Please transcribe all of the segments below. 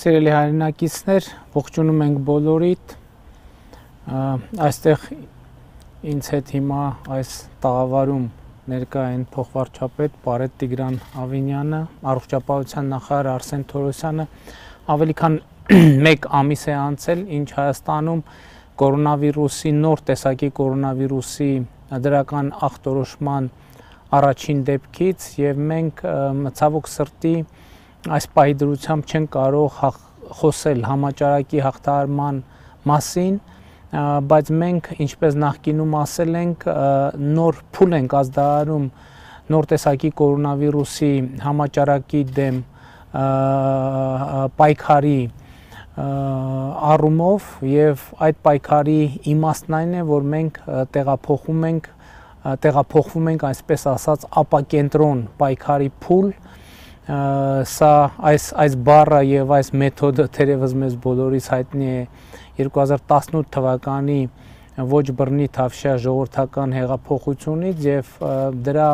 Սիրելի հայրենակիցներ, ողջունում ենք բոլորիդ, այստեղ ինձ հետ հիմա այս տաղավարում ներկա են փոխվարչապետ Պարետ Տիգրան Ավինյանը, առողջապահության նախարար Արսեն Թորոսյանը, ավելի քան 1 ամիս է անցել, ինչ Հայաստանում կորոնավիրուսի նոր տեսակի կորոնավիրուսի դրական ախտորոշման առաջին դեպքից եւ մենք ցավոք սրտի այս պահի դրությամբ չեն կարող խոսել համաճարակի հաղթահարման մասին, բայց մենք ինչպես նախկինում ասել ենք, նոր փուլ ենք ազդարարում նոր տեսակի կորոնավիրուսի համաճարակի դեմ պայքարի առումով եւ այդ պայքարի իմաստն այն է, որ մենք տեղափոխվում ենք այսպես ասած ապակենտրոն պայքարի փուլ, սա այս բառը եւ այս մեթոդը թերևս մեզ բոլորիս հայտնի է 2018 թվականի ոչ բռնի թավշյա ժողովրդական հեղափոխությունից եւ դրա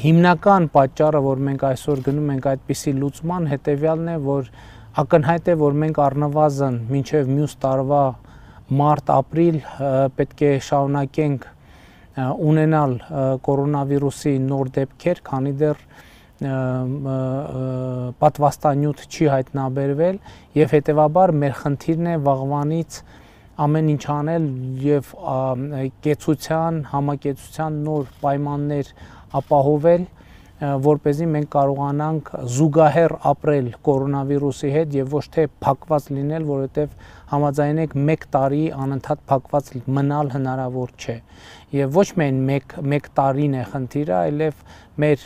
հիմնական պատճառը, որ մենք այսօր գնում ենք այդպիսի լուծման, հետեւյալն է, որ ակնհայտ է, որ մենք առնվազն մինչեւ մյուս տարվա մարտ-ապրիլ պետք է շարունակենք ունենալ կորոնավիրուսի նոր դեպքեր, քանի դեռ պատվաստանյութ չի հայտնաբերվել եւ հետեւաբար մեր խնդիրն է վաղվանից ամեն ինչ անել եւ համակեցության նոր պայմաններ ապահովել, որպեսզի մենք կարողանանք զուգահեռ ապրել կորոնավիրուսի հետ եւ ոչ թե փակված լինել, որովհետեւ համաձայնեք 1 տարի անընդհատ փակված մնալ հնարավոր չէ եւ ոչ միայն 1 տարին է խնդիրը, այլև մեր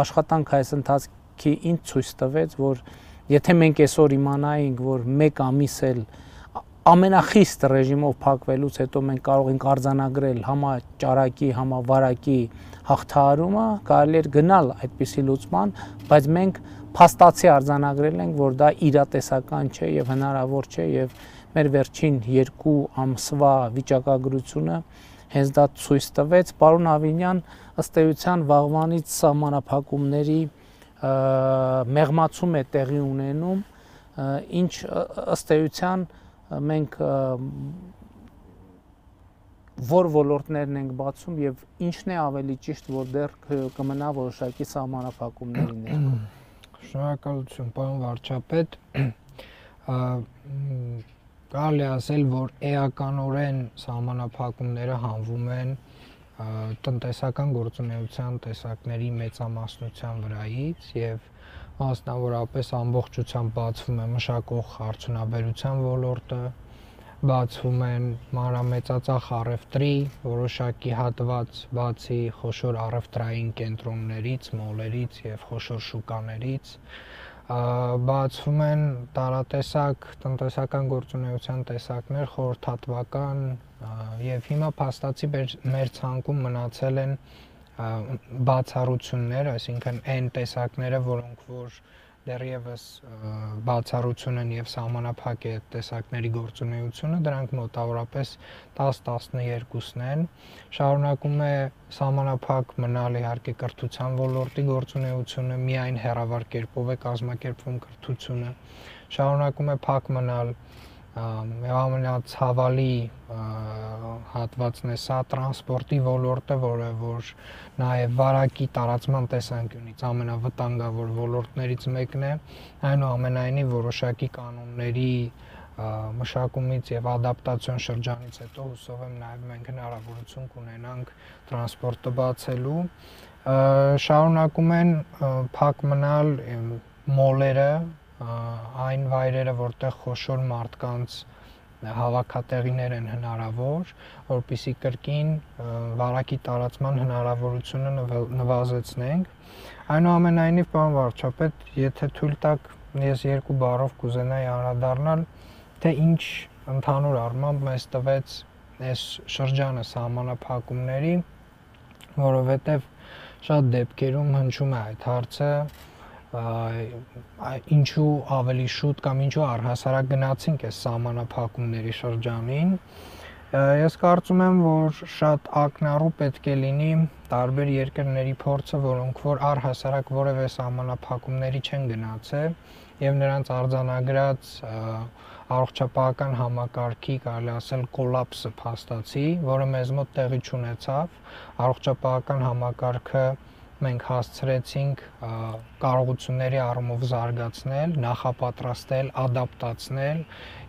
աշխատանքը այս ընթացքի ինձ ցույց տվեց, որ եթե մենք այսօր իմանայինք, որ 1 ամիս էլ ամենախիստ ռեժիմով փակվելուց հետո մենք կարող ենք արձանագրել համաճարակի, համավարակի հաղթահարումը, կարելի էր գնալ այդպիսի լուծման, բայց մենք փաստացի արձանագրել ենք, որ դա իրատեսական չէ եւ հնարավոր չէ եւ մեր վերջին 2 ամսվա վիճակագրությունը հենց դա ցույց տվեց։ Պարոն Ավինյան, ըստ էության վաղվանից սահմանափակումների մեղմացում է տեղի ունենում, ինչ ըստ էության մենք որ ոլորտներն ենք բացում եւ ինչն է ավելի ճիշտ, որ դեռ կմնա որոշակի սահմանափակումների ներքո։ Շնորհակալություն, պարոն վարչապետ։ Կարելի է ասել, որ էականորեն սահմանափակումները հանվում են տնտեսական գործունեության տեսակների մեծամասնության վրայից եւ մասնավորապես ամբողջությամբ բացվում է մշակող արդյունաբերության ոլորտը, բացվում են մանրամեծածախ առևտրի որոշակի հատված, բացի խոշոր առևտրային կենտրոններից, մոլերից եւ խոշոր շուկաներից, բացվում են տարատեսակ տնտեսական գործունեության տեսակներ, խորհրդատվական եւ հիմա փաստացի մեր ցանկում մնացել են բացառություններ, այսինքն այն տեսակները, որոնք որ դեռևս բացառություն են եւ սահմանափակ է տեսակների գործունեությունը, դրանք մոտավորապես 10-12-ն են, շարունակում է սահմանափակ մնալ իհարկե կրթության ոլորտի գործունեությունը, միայն հեռավար կերպով է կազմակերպվում կրթությունը, շարունակում է փակ մնալ ամենացավալի հատվածն է սա տրանսպորտի ոլորտը, որը որ նաև վարակի տարածման տեսանկյունից ամենավտանգավոր ոլորտներից մեկն է, այնուամենայնիվ որոշակի կանոնների մշակումից եւ ադապտացիոն շրջանից հետո հուսով եմ նաև մենք հնարավորություն կունենանք տրանսպորտը բացելու, շարունակում են փակ մնալ մոլերը, այն վայրերը, որտեղ խոշոր մարդկանց հավաքատեղիներ են հնարավոր, որպեսզի կրկին վարակի տարածման հնարավորությունը նվազեցնենք։ Այնուամենայնիվ, պարոն վարչապետ, եթե թույլ տաք, ես 2 բառով կուզենայի անդրադառնալ, թե ինչ ընդհանուր առմամբ մեզ տվեց այս շրջանը սահմանափակումների, որովհետև շատ դեպքերում հնչում է այդ հարցը, ինչու ավելի շուտ կամ ինչու առհասարակ գնացինք այս սահմանափակումների շրջանին, ես կարծում եմ, որ շատ ակնառու պետք է լինի տարբեր երկրների փորձը, որոնք որ առհասարակ որևէ սահմանափակումների չեն գնացել, եւ նրանց արձանագրած առողջապահական համակարգի, կարելի ասել, կոլապսը փաստացի, որը մեզ մոտ տեղի չունեցավ։ Առողջապահական համակարգը մենք հասցրեցինք կարողությունների առումով զարգացնել, նախապատրաստել, ադապտացնել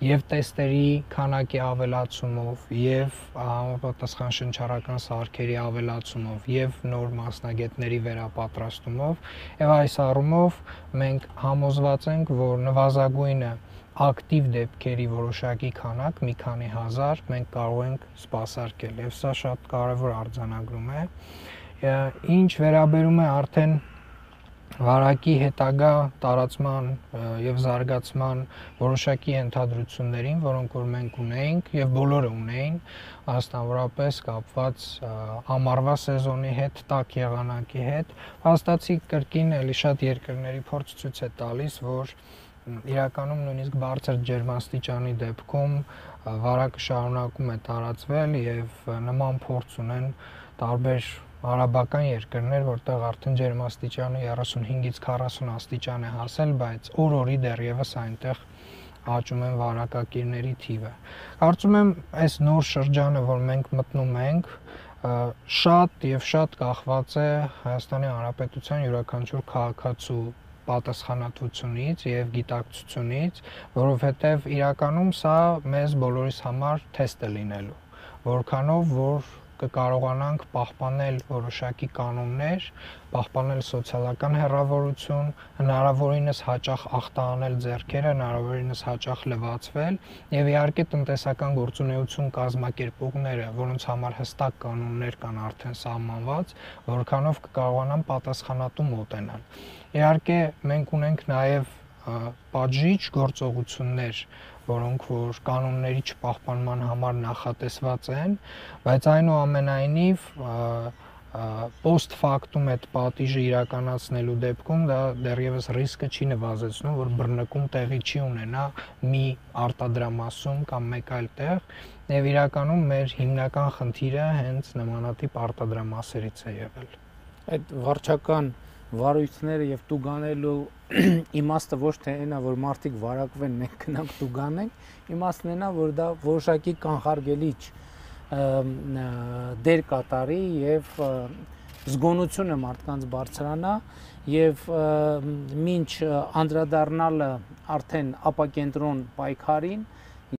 եւ տեստերի քանակի ավելացումով եւ համապատասխան շնչառական սարքերի ավելացումով եւ նոր մասնագետների վերապատրաստումով եւ այս առումով մենք համոզված ենք, որ նվազագույնը ակտիվ դեպքերի որոշակի քանակ, մի քանի հազար մենք կարող ենք սպասարկել եւ սա շատ կարեւոր արձանագրում է։ Ինչ վերաբերում է արդեն վարակի հետագա տարածման եւ զարգացման որոշակի ենթադրություններին, որոնք որ մենք ունեինք եւ բոլորը ունեին, մասնավորապես կապված ամառվա սեզոնի հետ, տաք եղանակի հետ, հաստատի կրկին էլի շատ երկրների փորձ ցույց է տալիս, որ իրականում նույնիսկ բարձր ջերմաստիճանի դեպքում վարակը շարունակում է տարածվել եւ նման փորձ ունեն տարբեր արաբական երկրներ, որտեղ արդեն ջերմաստիճանը 35-ից 40 աստիճան է հասել, բայց օր-օրի դեռևս այնտեղ աճում են վարակակիրների թիվը։ Կարծում եմ, այս նոր շրջանը, որ մենք մտնում ենք, շատ եւ շատ կախված է Հայաստանի Հանրապետության յուրաքանչյուր քաղաքացու պատասխանատվությունից եւ գիտակցությունից, որովհետեւ իրականում սա մեզ բոլորիս համար թեստ է լինելու, որքանով որ կկարողանանք պահպանել որոշակի կանոններ, պահպանել սոցիալական հեռավորություն, հնարավորինս հաճախ ախտահանել ձեռքերը, հնարավորինս հաճախ լվացվել եւ իհարկե տնտեսական գործունեություն կազմակերպողները, որոնց համար հստակ կանոններ կան արդեն սահմանված, որքանով կկարողանան պատասխանատու մոտենալ։ Իհարկե մենք ունենք նաեւ պատժիչ գործողություններ, որոնք որ կանոնների չպահպանման համար նախատեսված են, բայց այնուամենայնիվ post factum այդ պատիժը իրականացնելու դեպքում դա դեռևս ռիսկը չի նվազեցնում, որ բռնկում տեղի չի ունենա մի արտադրամասում կամ մեկ այլ տեղ, եւ իրականում մեր հիմնական խնդիրը հենց նմանատիպ արտադրամասերից է եղել։ Այդ վարչական վարույթները եւ տուգանելու իմաստը ոչ թե այնա, որ մարդիկ վարակվեն, մենք գնանք տուգանենք, իմաստն այնա, որ դա որոշակի կանխարգելիչ դեր կատարի եւ զգոնությունը մարդկանց բարձրանա եւ մինչ անդրադառնալը արդեն ապակենտրոն պայքարին